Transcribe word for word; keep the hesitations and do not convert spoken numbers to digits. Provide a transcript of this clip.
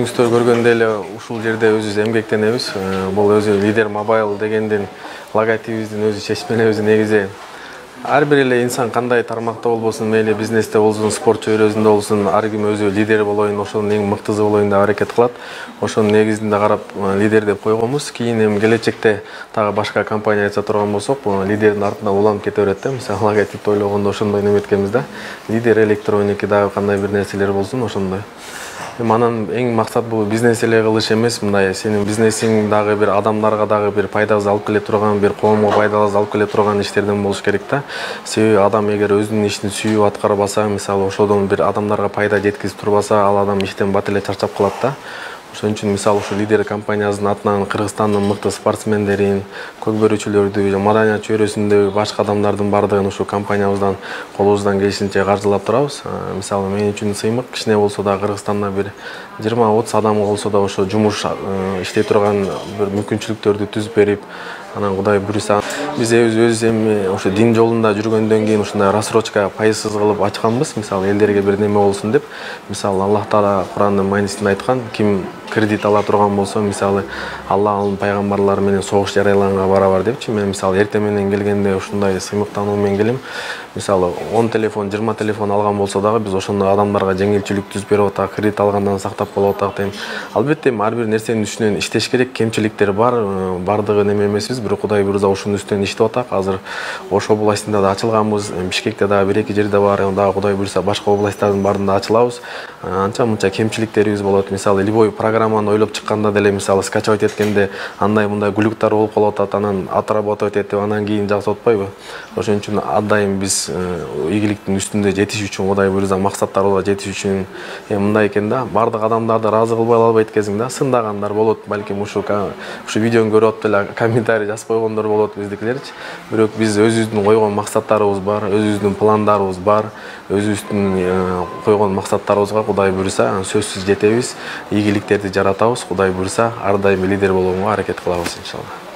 өзүңүздөр көргөндөй эле ушул жерде өзүбүз эмгектенебиз. Бул өзү Лидер Mobile дегендин логотипибиздин өзү чечмелебиз негизи ар бир эле инсан кандай тармакта болбосун, мейли бизнесте болсун, спорт чөйрөсүндө болсун, ар ким өзү лидер болоюн, ошонун эң мыктысы болоюн деп аракет кылат. Ошонун негизинде карап лидер деп койгонбуз. Кийин эми келечекте дагы башка компания ача турган болсок, лидердин артынан уланып кете берет да. Мисалы логотипти ойлогондо ошондой неметкенбиз да. Лидер электроники дагы кандай бир нерселер болсун ошондой. Манан эң максат бул бизнес эле кылыш эмес, мындай сенин бизнесиң дагы бир адамдарга дагы бир пайдасы алып келе турган, бир коомго пайдасы алып келе турган иштерден болуш керек да. Себеби адам эгер өзүнүн ишин сүйүп аткарбаса, мисалы ошодон бир адамдарга пайда жеткизип турбаса, ал адам иштен бат эле чарчап калат да. Ошон үчүн мисалы ушу Лидер компаниясынын атынан Кыргызстандын мыкты спортсмендерин, көк бөрүчүлөрдү, маданият чөйрөсүндөгү башка адамдардын бардыгын ушу компаниябыздан колубуздан келишинче каржылап турабыз. Мисалы мен үчүн сыймык кичине болсо да Кыргызстанда бир жыйырма отуз адам болсо да ошо жумуш иштей турган бир мүмкүнчүлүктөрдү түзүп берип, анан Кудай буйруса биз өзүбүз эми ошо дин жолунда жүргөндөн кийин ушундай рассрочка пайызсыз кылып ачканбыз. Мисалы элдерге бир неме болсун деп. Мисалы Аллах Таала Курандын маанисинде айткан, ким кредит ала турган болсо, мисалы Аллахтын пайгамбарлары менен согуш жарыялаганга барабар депчи. Мен мисалы эртең менен келгенде ушундай сыймыктануу менен келем. Мисалы он телефон, жыйырма телефон алган болсо дагы биз ошондой адамдарга жеңилчилик түзүп берип атак, кредит алгандан сактап калып атак дейм. Албетте ар бир нерсенин үстүнөн иштеш керек, кемчиликтер бар, бардыгы неме эмеспиз, бирок Кудай буйруса ушунун үстүнөн иштеп атак. Азыр Ош областында да ачылганбыз, Бишкекте дагы бир эки жерде бар, дагы Кудай буйруса башка областтардын баарында ачылабыз. Анча мынча кемчиликтерибиз болот. Мисалы любой программаны ойлоп чыкканда деле, мисалы скачивать эткенде андай мындай глюктар болуп калып атат, анан отработать этип анан кийин жасап атпайбы? Ошон үчүн ар дайым биз ийгиликтин үстүндө жетиш үчүн, Кудай буйруса максаттарыбызга жетиш үчүн мындай экен да, бардык адамдарды ыраазы кылбай албайт экенсиң да, сындагандар болот, балким ушу ушу видеону көрүп атып эле комментарий жазып койгондор болот биздикилерчи. Бирок биз өзүбүздүн койгон максаттарыбыз бар, өзүбүздүн пландарыбыз бар, өзүбүздүн койгон максаттарыбызга Кудай буйруса сөзсүз жетебиз, ийгиликтерди жаратабыз. Кудай буйруса ар дайым лидер болгонго аракет кылабыз иншалла.